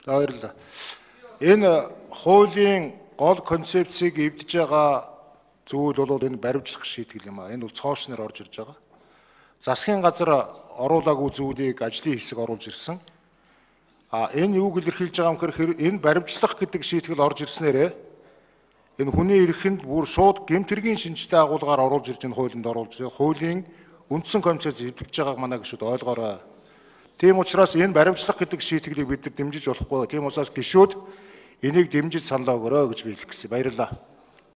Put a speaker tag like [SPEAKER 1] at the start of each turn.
[SPEAKER 1] Баярлалаа. Энэ хуулийн гол концепцийг эвдэж байгаа зүйл бол энэ баримтлах шийтгэл юм аа. Энэ бол цоошноор орж ирж байгаа. Засгийн газар оруулаагүй зүйлийг ажлын хэсэг оруулж ирсэн. Энэ юуг илэрхийлж байгаа юм гэхээр энэ баримтлах гэдэг шийтгэл орж ирснээрээ энэ хүний эрхэнд бүр шууд гэмтэргийн шинжтэй агуулгаар оруулж ирж энэ хуулинд оруулж хуулийн үндсэн концепц эвдэж байгааг манай гишүүд ойлгоорой. Тийм учраас энэ баримтлах гэдэг шийтгэлийг бид нар дэмжиж болохгүй. Тийм учраас гишүүд энийг дэмжиж саналаа өгөөрэй гэж би хэлэх гэсэн. Баярлалаа.